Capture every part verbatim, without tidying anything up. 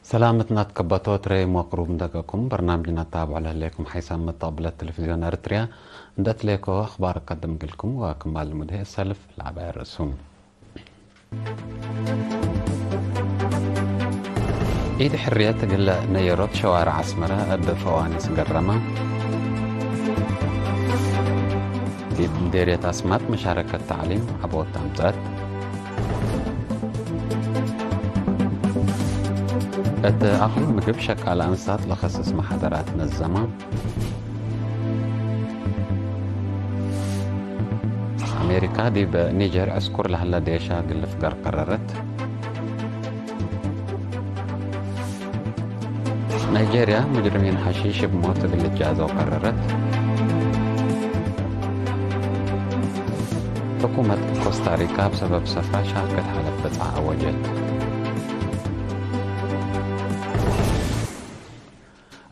ሰላም እትናት ከበቶት ሬ ሞቅሩብ እንደገኩም በርናምጅና ታብዖ ለህሌኩም ሓይሳም መተቅብለት ቴሌቪዝዮን ኤረትርያ እንደ እትሌኮ አኽባር እቀድም እግልኩም ወክማል ልሙድ ህይ እሰልፍ ለዐባይ ርእሱ። ዒድ ሕርየት እግል ነየሮት ሸዋርዕ አስመረ እብ ፈዋኒስ ገረመ። ዲብ ምዴርየት አስማጥ መሻረከት ተዕሊም ዐቦት አምጸአት። እት አክል ምግብ ሸቃለ አንሳት ለከስስ መሓደራት ነዘመ። አሜሪካ ዲብ ኒጀር ዕስኩር ለህለ ዴሻ እግል ልፍገር ቀረረት። ናይጄርያ፣ ሙጅሪሚን ሐሺሽ እብ ሞት እግል ልጃዘው ቀረረት። ሕኩመት ኮስታሪካ እብ ሰበብ ሰፍራ ሻርከት ሐለፍ በጽሐ አወጀት።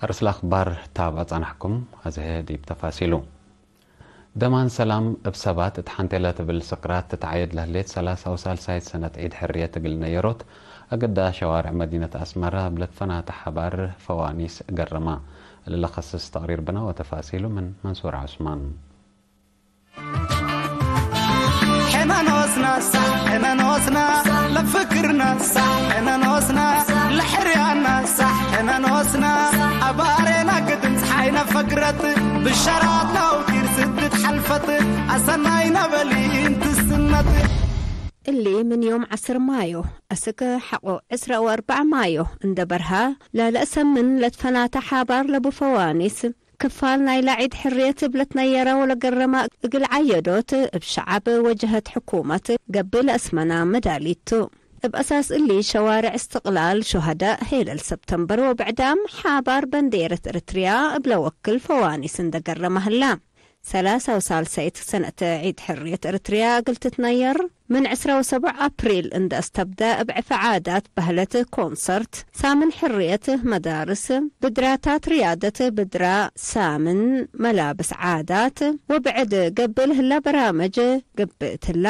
አርእስ ለአኽባር ታብዐ ጸናሕኩም፣ አዜ ዲብ ተፋሲሉ። ደማን ሰላም እብ ሰባት እት ሐንቴ ለትብል ስቅራት ትትዓየድ ለህሌት ሰላሳ ወሳልሳይት ሰነት ዒድ ሕርየት እግል ነየሮት፣ አግዳ ሸዋርዕ መዲነት አስመረ እብ ለትፈናተ ሐባር ፈዋኒስ ገረመ። እሊ ለከስስ ተቅሪር ብነ ወተፋሲሉ ምን መንሱር ዑስማን። ሕነ ኖስና ሳዕ፣ ሕነ ኖስና ለፍክርና ሳዕ፣ ሕነ ኖስና ለሕርያና ሳዕ፣ ሕነ ኖስና አባሬና ግድም ጸሓይነ ፈግረት ብሸራት ለአውቲር ስድት ሐልፈት አሰናይነ በሊን ትስነት። እሊ ምን ዮም ዐስር ማዮ አስክ ሐቆ ዕስራ ወአርበዕ ማዮ እንደ በርሃ ለለአሰምን ለትፈናተ ሐባር ለቡ ፈዋኒስ ክፋል ናይላ ዒድ ሕርየት እብ ለትነየረ ወለገረመ እግል ዐየዶት እብ ሸዐብ ወጀሀት ሕኩመት ገብእ ለአስመና መዳሊት ቱ። እብ አሳስ እሊ ሸዋርዕ እስትቅላል ሹሀዳእ ሄለል ሰብተምበር ወብዕዳም ሐባር በንዴረት ኤረትርያ እብ ለወክል ፈዋኒስ እንደ ገረመ ህላ። ሰላሳ ወሳልሳይት ሰነት ዒድ ሕርየት ኤረትርያ እግል ትትነየር ምን ዕስራ ወሰቡዕ አፕሪል እንደ አስተብደ እብ ዕፌ ዓዳት፣ በህለት፣ ኮንሰርት፣ ሳምን ሕርየት፣ መዳርስ፣ ብድራታት ርያደት፣ ብድራ ሳምን፣ መላብስ ዓዳት ወብዕድ ገብእ ለህላ በራምጅ ገብእ ትላ።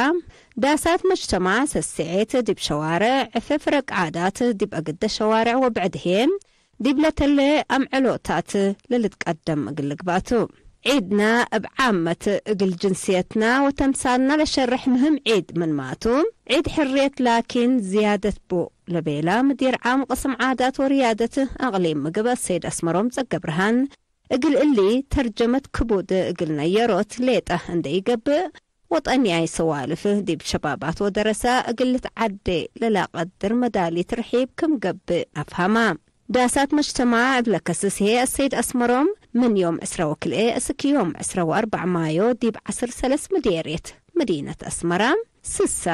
ዳሳት መጅተማዕ ሰሴዔት ዲብ ሸዋርዕ፣ ዕፌ ፍረቅ ዓዳት ዲብ አግደ ሸዋርዕ ወብዕድ ህዬ ዲብ ለተሌ አምዕሎታት ለልትቀደም እግል ልግባእ ቱ። ዒድና እብ ዓመት እግል ጅንስየትና ወተምሳልና ለሸርሕ ምህም ዒድ ምንማቱ፣ ዒድ ሕርየት ላኪን ዝያደት ቡ ለቤላ ምዲር ዓም ቅስም ዓዳት ወርያደት አቅሊም ምግብ አሰይድ አስመሮም ጸገብርሃን፣ እግል እሊ ተርጀመት ክቡድ እግል ነየሮት ሌጠ እንደ ኢገብእ፣ ወጠንያይ ሰዋልፍ ዲብ ሸባባት ወደረሰ እግል ልትዓዴ ለላቀድር መዳሊት ርሒብ ክም ገብእ አፍሀማ። ዳሳት መጅተማዕ እብ ለከስስ ህዬ አሰይድ አስመሮም፣ ምን ዮም ዕስራ ወክልኤ እስክ ዮም ዕስራ ወአርበዕ ማዮ ዲብ ዐስር ሰለስ ምዴርየት መዲነት አስመራ፣ ስሳ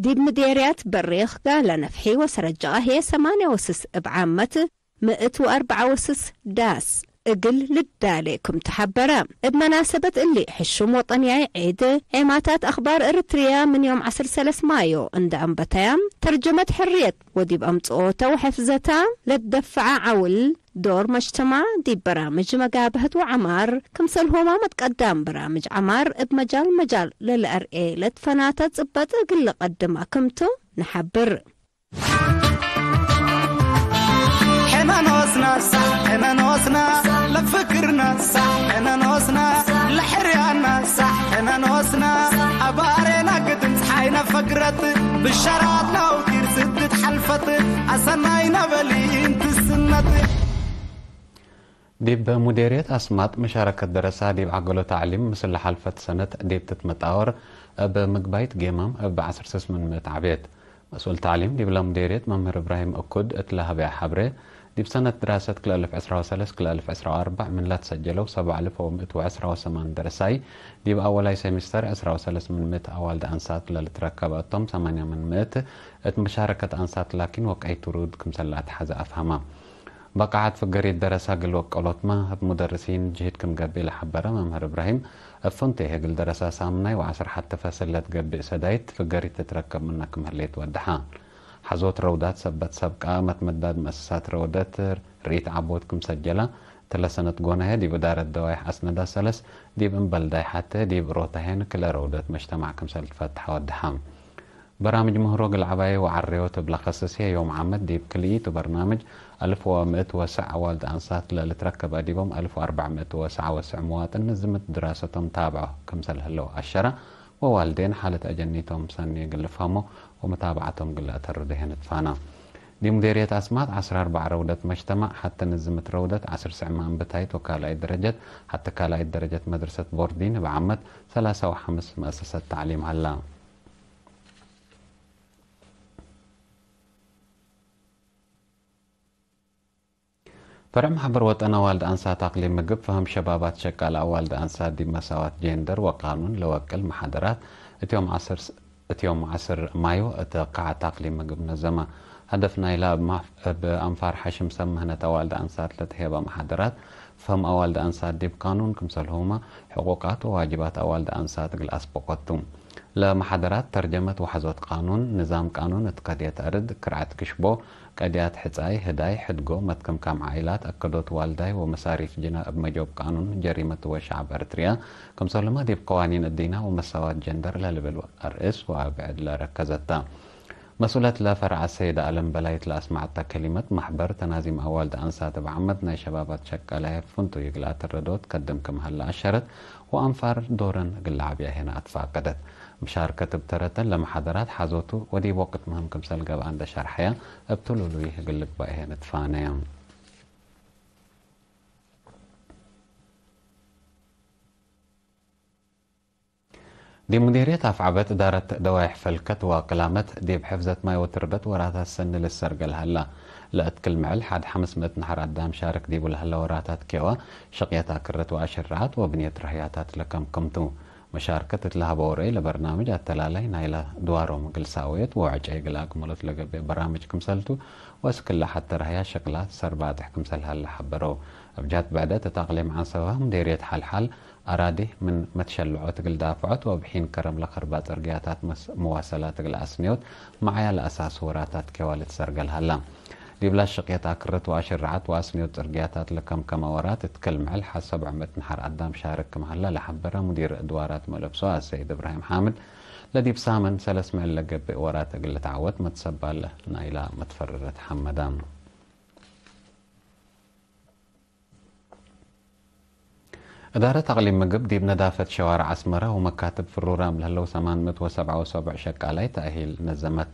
ዲብ ምዴርያት በሬኽ፣ ጋላ ነፍሒ ወሰረጀቃ ህዬ ሰማንያ ወስስ እብ ዓመት ምእት ወአርበዓ ወስስ ዳስ እግል ልዳሌ ክም ተሐበረ። እብ መናሰበት እሊ፣ ሕሹም ወጠንያይ ዒድ ዔማታት አኽባር ኤረትርያ ምን ዮም ዐስር ሰለስ ማዮ እንደ አንበተያ፣ ተርጀመት ሕርየት ወዲብ አምጽኦተ ወሐፍዘታ ለትደፈዐ ዐውል ዶር መጅተማዕ ዲብ በራምጅ መጋብሀት ወዐማር፣ ክምሰልሆማ መትቀዳም በራምጅ ዐማር እብ መጃል መጃል ለለአርኤ ለትፈናተ ጽበጥ እግል ለቀድማ ክምቱ ነሐብር። ሕነ ኖስና ሳዕ፣ ሕነ ኖስና ለፍክርና ሳዕ፣ ሕነ ኖስና ለሕርያና ሳዕ፣ ሕነ ኖስና አባሬና ግድም ጸሓይነ ፈግረት ብሸራት ለአውቲር ስድት ሐልፈት አሰናይነ በሊን ትስነት። ዲብ ሙዴርየት አስማጥ መሻረከት ደረሳ ዲብ ዐገሎ ተዕሊም ምስል ለሐልፈት ሰነት ዲብ ትትመጣወር እብ ምግባይት ጌማም እብ ዐስር ስስ ምን ምእት ዐቤት። መስኡል ተዕሊም ዲብለ ሙዴርየት መምህር እብራሂም እኩድ እት ለሀበየ ሐብሬ፣ ዲብ ሰነት ድራሰት ክልኤ አልፍ ዕስራ ወሰለስ ክልኤ አልፍ ዕስራ ወአርበዕ ምን ለትሰጀለው ሰብዕ አልፍ ወምእት ወዕስራ ወሰማን ደረሳይ፣ ዲብ አወላይ ሴሚስተር ዕስራ ወሰለስ ምን ምእት አዋልድ አንሳት ለልትረከበ እቶም ሰማንያ ምን ምእት እት መሻረከት አንሳት ላኪን ወቀይት ውሩድ ክምሰል ለአትሐዘ አፍሀመ። በቃዐት ፍገሪት ደረሳ እግል ወቀሎትመ እብ ሙደርሲን ጅህድ ክም ገብእ ለሐበረ መምህር እብራሂም፣ እብ ፍንቱይ እግል ደረሳ ሳምናይ ወዐስር ሐቲ ፈስል ለትገብእ ሰዳይት ፍገሪት ትትረከብ ምነ ክም ህሌት ወደሐ። ሐዞት ረውዳት ሰበት ሰብቃ መትመዳድ መአሰሳት ረውደት ርኢት ዐቦት ክም ሰጀላ፣ እትለ ሰነት ጎናየ ዲብ እዳረት ደዋይሕ አስነዳ ሰለስ ዲብ እምበልዳይ ሐቴ ዲብ ሮታሄን ክለ ረውደት መጅተማዕ ክምሰል ትፈትሐ ወደሐ። በራምጅ ምህሮ እግል ዐባየ ወዐሬዎት እብ ለከስስ ህዬ ዮም ዓመት ዲብ ክልኢቱ በርናምጅ አልፍ ወምእት ወሰዕ አዋልድ አንሳት ለልትረከብ አዲቦም፣ አልፍ ወአርበዕ ምእት ወሰዕ ወሰዕ መዋጥን ንዝምት ድራሰቶም ታብዖ ክምሰል ህለው አሸረ፣ ወዋልዴን ሓለት አጀኒቶም ሰኒ እግል ልፍሀሞ ወመታብዐቶም እግል ለአተርዶ ህዬ ንትፋና። ዲብ ሙዴርየት አስማጥ ዐስር አርበዕ ረውደት መጅተማዕ፣ ሐቴ ንዝምት ረውደት ዐስር ስዕ ማንብታይት ወካልኣይት ደረጀት፣ ሐቴ ካልኣይት ደረጀት መድረሰት ቦርዲን እብ ዓመት ሰላሳ ወሐምስ መአሰሰት ተዕሊም ሀላ። ፈርዕ ማሕበር ወጠን አዋልድ አንሳት አቅሊም ምግብ፣ ፈህም ሸባባት ሸቃል አዋልድ አንሳት ዲብ መሳዋት ጄንደር ወቃኑን ለወቅል መሓደራት እት ዮም ዐስር፣ እት ዮም ዐስር ማዮ እት ቃዐት አቅሊም ምግብ ነዘመ። ሀደፍ ናይላ እብ ማፍ-፣ እብ አንፋር ሐሽም ሰብ ምህነት አዋልድ አንሳት ለተሄበ መሓደራት፣ ፈህም አዋልድ አንሳት ዲብ ቃኑን ክምሰልሁመ፣ ሕቁቃት ወዋጅባት አዋልድ አንሳት እግል አስበቆቱ። ለመሓደራት ተርጀመት ወሐዞት ቃኑን፣ ንዛም ቃኑን እት ቀድየት አርድ፣ ክርዐት ክሽቦ፣ ቀድያት ሕጻይ፣ ህዳይ፣ ሕድጎ፣ መትከምካም ዓኢላት፣ አከዶት ዋልዳይ ወመሳሪፍ ጅና እብ መጆብ ቃኑን ጀሪመት ወሸዐብ ኤረትርያ፣ ክምሰልሁመ ዲብ ቀዋኒን እዲና ወመሳዋት ጀንደር ለልብል አርእስ ወአብዕድ ለረከዘት ተ። መስኡለት ለፈርዐ ሰይድ አለም በላይት ለአስመዐተ ከሊመት፣ ማሕበር ተናዚም አዋልድ አንሳት እብ ዓመት ናይ ሸባባት ሸቃላያት ፍንቱይ እግል አተረዶት ከድም ክም ሀለ አሸረት፣ ወአንፋር ዶረን እግል ለዐብያ ሄነ አትፋቀደት። ምሻርከት እብ ተረተን ለመሓደራት ሐዞቱ ወዲብ ወቅት ምህም ክምሰል ገብአ እንዴ ሸርሐየ፣ እብ ትሉሉይ እግል ልግበእ ሄነ ትፋነየ። ዲብ ሙዲርየት አፍዐበት እዳረት ደዋይሕ ፈልከት ወቅላመት፣ ዲብ ሕፍዘት ማይ ወትርበት ወራታት ሰኒ ልሰርገል ሀላ። ለእት ክል ምዕል ሐድ ሐምስ ምእት ነሐር አዳም ሻርክ ዲቡ ለሀለ ወራታት ኬዋ፣ ሸቅየት አክርት ወአሽርዓት ወብንየት ረህያታት ለከምክምቱ። መሻርከት እት ለሀበው ረአይ ለበርናምጅ አተላላይ ናይለ ድዋሮም እግል ሳወየት ወዕጨይ እግል አክመሎት ለገብእ በራምጅ ክምሰልቱ፣ ወእስክለ ሐቴ ረህያ ሸቅላት ሰርባጥሕ ክምሰል ሀለ ሐበረው። እብ ጀህት ብዕደት እት አቅሊም ዐንሰበ ሙዲርየት ሐልሓል አራዲ ምን መትሸልዖት እግል ዳፍዖት ወእብ ሒን ከረም ለከርባ ጽርግያታት መስ-፣ መዋሰላት እግል አስንዮት መዓያ ለአሳሱ ወራታት ኬዋ ልትሰርገል ሀላ። ዲብላ ሽቅየት አክርት ወአሽርዓት ወአስንዮት ጽርግያታት ለከምከመ ወራት እት ክል ምዕል ሐድ ሰብዕ ምእት ነሐር አዳም ሻርክ ክም ሀለ ለሐበረ ሙዲር እድዋራት መልእብሶ አሰይድ እብራሂም ሓምድ፣ ለዲብ ሳምን ሰለስ ምዕል ለገብእ ወራት እግል ልትዓወት መትሰባል ናይላ መትፈረረት ሐመዳ። እዳረት አቅሊም ምግብ ዲብ ነዳፈት ሸዋርዕ አስመረ ወመካትብ ፍሩራም ለህለው ሰማን ምእት ወሰብዓ ወሰቡዕ ሸቃላይ ተእሂል ነዘመት።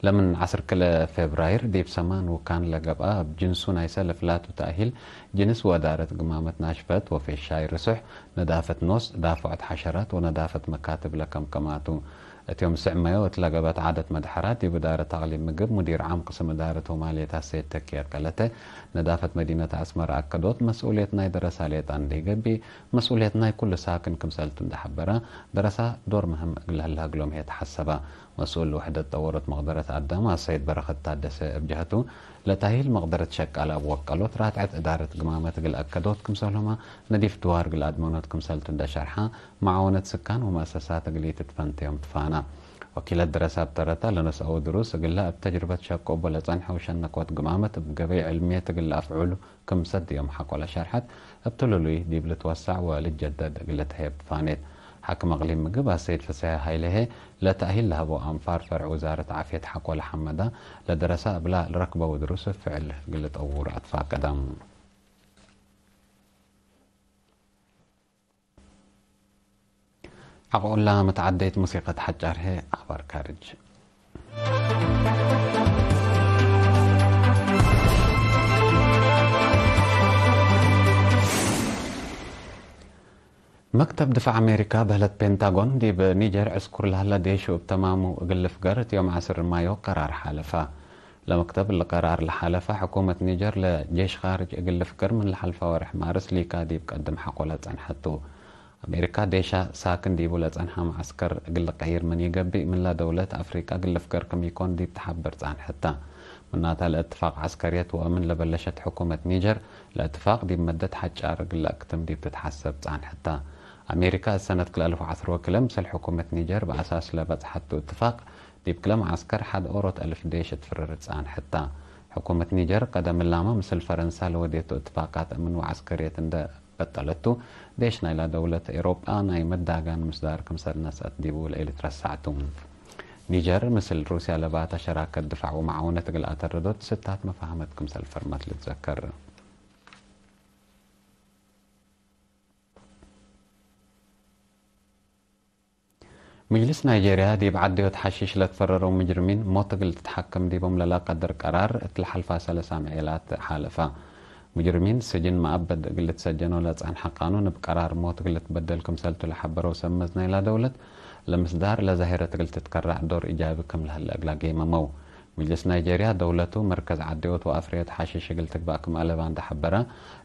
ለምን ዐስር ክልኤ ፌብራይር ዲብ ሰማን ውካን ለገብአ እብ ጅንሱ ናይ ሰልፍ ላቱ ተእሂል ጅንስ ወእዳረት ግማመት ናሽፈት ወፌሻይ ርሱሕ፣ ነዳፈት ኖስ፣ ዳፍዖት ሐሸራት ወነዳፈት መካትብ ለከምከማቱ። እት ዮም ስዕ መዮ እት ለገብአት ዓደት መድሐራት፣ ዲብ እዳረት አቅሊም ምግብ ሙዲር ዓም ቅስም እዳረት ወማልየት አሰይድ ተኪየ ቀለተ፣ ነዳፈት መዲነት አስመረ አከዶት፣ መስኡልየት ናይ ደረሳ ሌጣ እንዴ ገብእ፣ መስኡልየት ናይ ኩሉ ሳክን ክምሰልቱ እንዴ ሐበረ፣ ደረሳ ዶር ምህም እግል ለህለ እግሎም ህዬ ተሐሰበ። መስኡል ውሕደት ጠወሮት መቅደረት አዳም አሰይድ በረኸት ታደሰ እብ ጀህቱ፣ ለተእሂል መቅደረት ሸቃለ እብ ወቀሎት ራትዐት እዳረት ግማመት እግል አከዶት ክምሰልሁመ፣ ነዲፍ ድዋር እግል አድመኖት ክምሰልቱ እንዴ ሸርሐ፣ መዓወነት ስካን ወመአሰሳት እግል ኢትትፈንተዮም ትፋና። ወኪለት ደረሳ እብ ተረታ፣ ለነስአው ድሩስ እግለ እብ ተጅርበት ሸቆ እቦ ለጸንሐው ሸነኮት ግማመት እብ ገበይ ዕልምየት እግል ለአፍዑሉ ክም ሰድዮም ሐቆ ለሸርሐት፣ እብ ትሉሉይ ዲብ ልትወሰዕ ወልትጀደድ እግል ልትሀየብ ትፋኔት። ሓክም አቅሊም ምግብ አሰይድ ፍሰሐ ሀይሌ ህዬ፣ ለተእሂል ለሀበው አንፋር ፈርዕ ውዛረት ዓፍየት ሐቆ ለሐመዳ፣ ለደረሳ እብላ ልረክበው ድሩስ ፍዕል እግል ልጠውር አትፋቀደ። ሐቆላ መትዓደይት ሙሲቀት ሐጫር ህዬ አኽባር ካርጅ። መክተብ ድፋዕ አሜሪካ በህለት ፔንታጎን፣ ዲብ ኒጀር ዕስኩር ለሀለ ዴሹ እብ ተማሙ እግል ልፍገር እት ዮም ዐስር ማዮ ቀራር ሓለፈ። ለመክተብ እሊ ቀራር ለሓለፈ፣ ሕኩመት ኒጀር ለጄሽ ካርጅ እግል ልፍገር ምን ለሓልፈ ወርሕ ማርስ ሊካ ዲብ ቀድም ሐቆ ለጸንሐቱ። አሜሪካ ዴሻ ሳክን ዲቡ ለጸንሐ መዐስከር እግል ልቀይር ምን ኢገብእ፣ ምንላ ደውለት አፍሪቃ እግል ልፍገር ክም ኢኮን ዲብ ተሐበር ጸንሐት ተ። ምናተ ለእትፋቅ ዐስከርየት ወአምን ለበለሸት ሕኩመት ኒጀር፣ ለእትፋቅ ዲብ መደት ሐጫር እግል ለአክትም ዲብ ትትሐሰብ ጸንሐት ተ። አሜሪካ እት ሰነት ክልኤ አልፍ ወዐስር ወክልኤ ምስል ሕኩመት ኒጀር በአሳስ ለበጽሐቱ እትፋቅ፣ ዲብ ክለ መዓስከር ሐድ ኦሮት አልፍ ዴሽ እት ፍርር ጸንሐት ተ። ሕኩመት ኒጀር ቀደም እላመ ምስል ፈረንሳ ለወዴቱ እትፋቃት አምን ወዐስከርየት እንደ በጠለቱ፣ ዴሽ ናይላ ደውለት ኤሮጳ ናይ መዳጋን ምስዳር ክምሰል ነስአት ዲቡ ለኢልትረሳዕ ቱ። ኒጀር ምስል ሩስያ ለባተ ሸራከት ድፋዕ ወመዓውነት እግል አተረዶት ስታት መፋህመት ክምሰል ፈርመት ልትዘከር። ምጅልስ ናይጄርያ ዲብ ዐደዮት ሐሺሽ ለትፈረረው ምጅርሚን ሞት እግል ትትሐከም ዲቦም ለለቀድር ቀራር እት ለሐልፋ ሰለስ አምዔላት ሓለፈ። ምጅርሚን ስጅን መአበድ እግል ልትሰጀኖ ለጸንሐ ቃኑን እብ ቀራር ሞት እግል ልትበደል ክምሰልቱ ለሐበረው ሰብ መዝ ናይላ ደውለት፣ ለምስዳር ለዛሂረት እግል ትትከረዕ ዶር ኢጃቢ ክም ለህለ እግላ ጌመመው። ምጅልስ ናይጄርያ፣ ደውለቱ መርከዝ ዐደዮት ወአፍረዮት ሐሺሽ እግል ትግባእ ክም አለባ እንዴ ሐበረ፣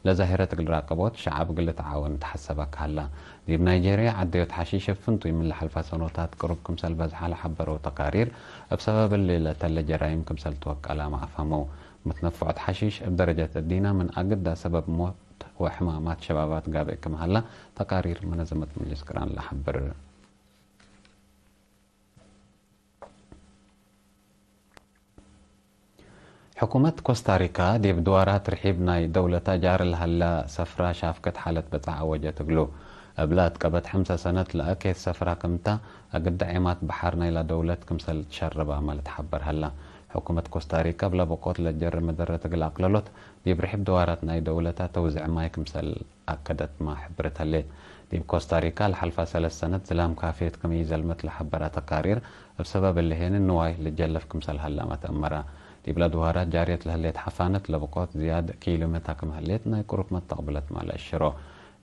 ለዛሂረት እግል ራቀቦት ሸዐብ እግል ልትዓወን ተሐሰበ ከሀላ። ዲብ ናይጄርያ፣ ዐደዮት ሐሺሽ እብ ፍንቱይ ምን ለሐልፋ ሰኖታት ቅሩብ ክምሰል በዝሐ ለሐበረው ተቃሪር፣ እብ ሰበብ እሊ ለተለ ጀራይም ክምሰል ትወቀላመ አፍሀመው። መትነፍዖት ሐሺሽ እብ ደረጀት እዲና ምን አግዳ ሰበብ ሞት ወሕማማት ሸባባት ጋብእ ክም ሀላ ተቃሪር መነዘመት ምጅልስ ቅራን ለሐብር። ሕኩመት ኮስታሪካ ዲብ ድዋራት ርሒብ ናይ ደውለታ ጃር ለሀላ ሰፍራ ሻፍከት ሓለት በጽሐ አወጀት እግሉ። እብለ አትቀበት ሐምሰ ሰነት ለአኬት ሰፍራ ክምታ፣ አግደ ዔማት በሐር ናይላ ደውለት ክምሰል ትሸርብ አመ ልትሐበር ሀላ። ሕኩመት ኮስታሪካ እብለ በቆት ለትጀርብ መደረት እግል አቅለሎት፣ ዲብ ርሒብ ድዋራት ናይ ደውለታ ተውዝዕ ማይ ክምሰል አከደትመ ሕብርት ህሌት። ዲብ ኮስታሪካ ለሐልፋ ሰለስ ሰነት ዝላም ካፍየት ክም ኢዘልመት ለሐበረ ተቃሪር፣ እብ ሰበብ እሊ ሄኒ ንዋይ ልጀለፍ ክምሰል ሀላመ ተአመረ። ዲብለ ድዋራት ጃርየት ለህሌት ሐፋነት ለብቆት ዝያድ ኪሉመታ ክም ህሌት ናይ ቅሩብ መተቅብለት ማለ እሽሮ።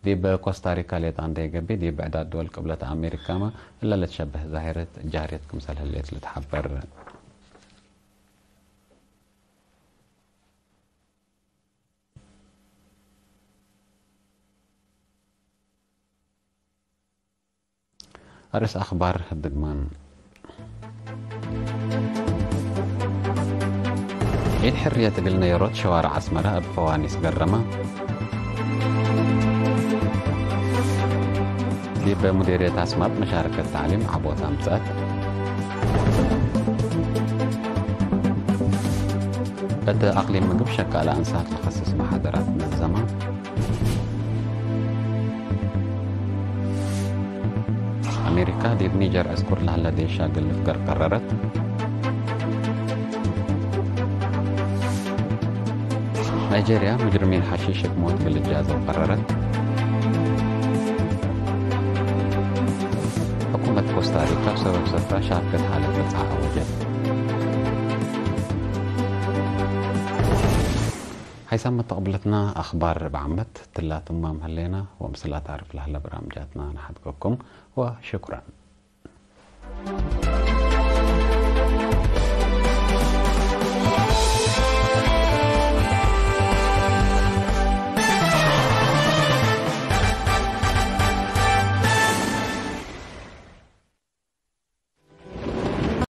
ዲብ ኮስታሪካ ሌጣ እንዴ ገብእ፣ ዲብ ብዕዳት ድወል ቅብለት አሜሪካመ እለ ልትሸበህ ዛሂረት ጃርየት ክምሰል ህሌት ልትሐበር። አርእስ አኽባር ህድግማን። ዒድ ሕርየት እግል ነየሮት ሸዋርዕ አስመረ እብ ፈዋኒስ ገረመ። ዲብ ሙዲርየት አስማጥ መሻረከት ተዕሊም ዐቦት አምጸአት። እት አቅሊም ምግብ ሸቃለ አንሳት ለከስስ መሓደራት ነዘመ። አሜሪካ ዲብ ኒጀር ዕስኩር ለሀለ ዴሻ እግል ልፍገር ቀረረት። ናይጄርያ፣ ሙጅሪሚን ሐሺሽ እብ ሞት እግል ልጃዘው ቀረረት። ሕኩመት ኮስታሪካ እብ ሰበብ ሰፍራ ሻፍከት ሓለት በጽሐ አወጀት። ሐይሳም መተቅብለትና አኽባር እብ ዓመት ትላ ትማም ህሌና፣ ወምስል አታርፍ ለህለ በራምጃትና ነሐድገኩም ወሽኩራን።